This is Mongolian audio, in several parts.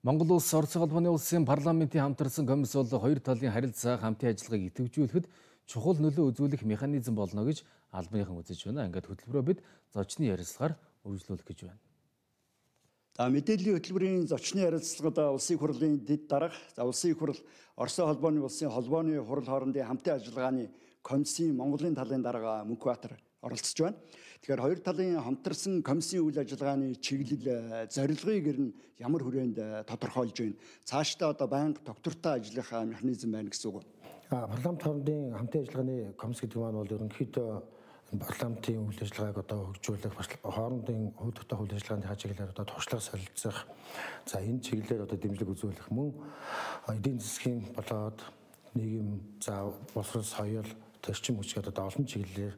Монгол улс Орос улбаны улсын парламентийн хамтарсан комисс бол хоёр талын харилцаа хамтын ажиллагааг идэвхжүүлэхэд чухал нөлөө үзүүлэх механизм болно гэж албаныхан үзэж байна. Ингээд хөтөлбөрөө бид зочны ярилцлагаар үргэлжлүүлэх гэж байна. Мэдээллийн хөтөлбөрийн зочны ярилцлагад улсын их хурлын дэд дарга, улсын их хурл, Орос улбаны улсын холбооны хурал хоорондын хамтын ажиллагааны комиссийн Монголын талын дарга Мөнхбаатар оролцож байна. Тэгэхээр хоёр талын хамтарсан комиссийн үйл ажиллагааны чиглэл, зорилгыг ер нь ямар хүрээнд тодорхойлж байна. Цаашдаа одоо байнга доктортой ажиллах механизм байна гэсэн үг. Парламент хоорондын хамтын ажиллагааны комисс гэдэг маань бол ерөнхийдөө парламентын үйл ажиллагааг одоо хөгжүүлэх, хоорондын хөдөлгөөнтэй үйл ажиллагааны чиглэлээр одоо туршлага солилцох, за энэ чиглэлээр одоо дэмжлэг үзүүлэх мөн эдийн засгийн болоод нийгэм, за боловсрол, соёл, төрчин хүчгээд одоо олон чиглэлээр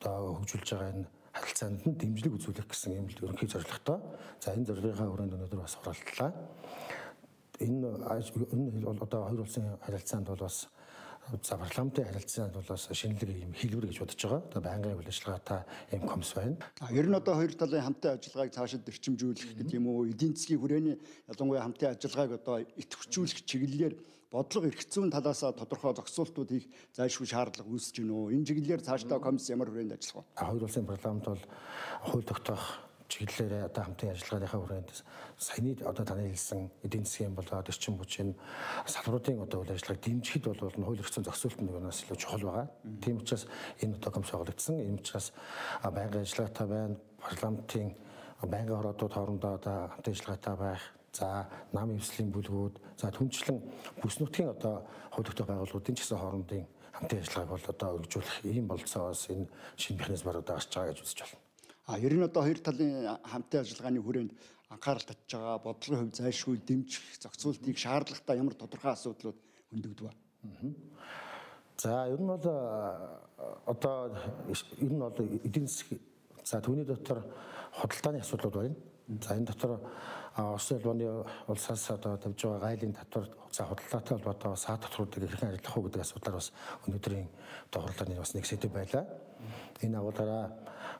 одоо хөгжүүлж байгаа энэ харилцаанд нь дэмжлэг үзүүлэх гэсэн юм ерөнхий зорилготой. За энэ зорилгынхаа хүрээнд өнөөдөр бас оролдлоо. Энэ бол одоо хоёр улсын харилцаанд бол бас за парламентын харилцаанд бол бас шинэлэг юм хэлбэр гэж бодож байгаа. Одоо байнгын үйл ажиллагаатай юм комисс байна. Ер нь одоо хоёр талын хамтын ажиллагааг цаашид эрчимжүүлэх гэдэг юм уу? Эдийн засгийн хүрээний ялангуяа хамтын ажиллагааг одоо идэвхжүүлэх чиглэлээр бодлого эрх зүйн талаас тодорхой зохицуултууд хийх зайлшгүй шаардлага үүсэж байна уу? Энэ чиглэлээр цаашдаа комисс ямар хүрээнд ажиллах вэ? Хоёр улсын парламент бол хууль тогтоох чиглэлээр одоо хамтын ажиллагааныхаа хүрээнд саяны одоо таны хэлсэн эдийн засгийн болоод эрчим хүчийн салбаруудын одоо үйл ажиллагааг дэмжихэд бол хууль эрх зүйн зохицуулт нь юунаас илүү чухал байгаа. Тийм учраас энэ одоо комисс байгуулагдсан. Энэ учраас байнгын ажиллагаатай байна. Парламентын байнгын хоруудууд хоорондоо одоо хамтын ажиллагаатай байх. За нам эвслийн бүлгүүд, за түнчлэн бүс нутгийн одоо хууль тогтоох байгууллагуудын ч гэсэн хоорондын хамтын ажиллагааг бол одоо өргөжүүлэх ийм болцоос энэ шинэ механизмаар одоо гарч байгаа гэж үзэж байна. Ер нь одоо хоёр талын хамтын ажиллагааны хүрээнд анхаарал татж байгаа бодлогын хувь зайлшгүй дэмжих зохицуултыг шаардлагатай ямар тодорхой асуудлууд хөндөгдөв ба. За ер нь бол одоо эдийн засгийн за түүний дотор худалдааны асуудлууд байна. За энэ дотор Орос улбаны улсаас одоо тавьж байгаа гайлын татвар за худалдаатай холбоотой саад татваруудыг хэрхэн арилгах уу гэдэг асуудлаар бас өнөөдрийн хурлааны бас нэг сэдв байлаа. Энэ агуулгаараа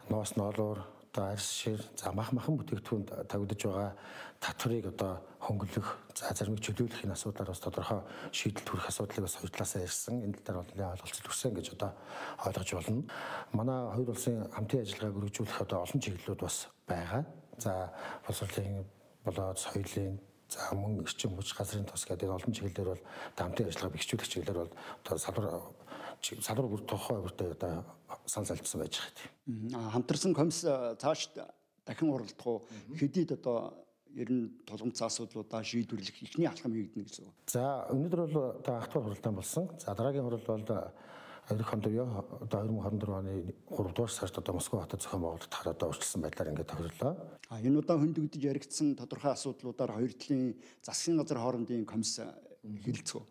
ноос ноолуур одоо арьс шир за махан бүтээгдэхүүнд тавигдж байгаа татварыг одоо хөнгөлөх за заримыг чөлөөлөх энэ асуудлаар бас тодорхой шийдэлт хүрэх асуудлыг бас хоёр талаас ярьсан. Энэ тал бол ойлголцол өгсөн гэж одоо ойлгож болно. Манай хоёр улсын хамтын ажиллагааг өргөжүүлэх одоо олон чиглэлүүд бас байгаа. За боловсролын болоод соёлын за мөн эрчим хүч газрын тос гэдэг олон чиглэлээр бол хамтын ажиллагаа бэхжүүлэх чиглэлээр бол одоо салбар бүр тухай бүртээ одоо санал залжсан байж байгаа. Хамтарсан комисс цааш дахин оролдох уу? Хэдийд одоо ер нь тулгымцсан асуудлуудаа шийдвэрлэх ихний алхам хийгдэнэ гэсэн үг. За өнөөдөр бол одоо ах トゥ хуралдаан болсон. За дараагийн хурал бол эх хондоо одоо 2024 оны 3 дугаар сард одоо Москва хотод зохион байгуулалтаар одоо урьдчилсан байдлаар ингээд тохирлоо. Энэ удаа хөндөгдөж яригдсан тодорхой асуудлуудаар хоёр талын засгийн газар хоорондын комисс хэлэлцэх үү?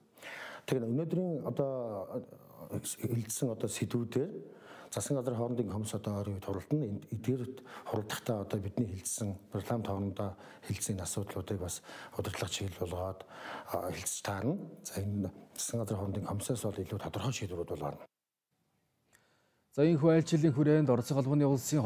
Тэгэхээр өнөөдрийн одоо хэлэлцсэн одоо сэдвүүдээр засгийн газар хоорондын комисс одоо ойрын үед хуралдана. Эдгээрт хуралдахдаа одоо бидний хэлэлцсэн парламент хоорондоо хэлэлцсэн асуудлуудыг бас удирдлага чиглэл болгоод хэлэлцэж таарна. За энэ засгийн газар хоорондын комиссаас бол илүү тодорхой шийдвэрүүд бол гарна. За энэ хуваалцлын хүрээнд Орос улбаны улсын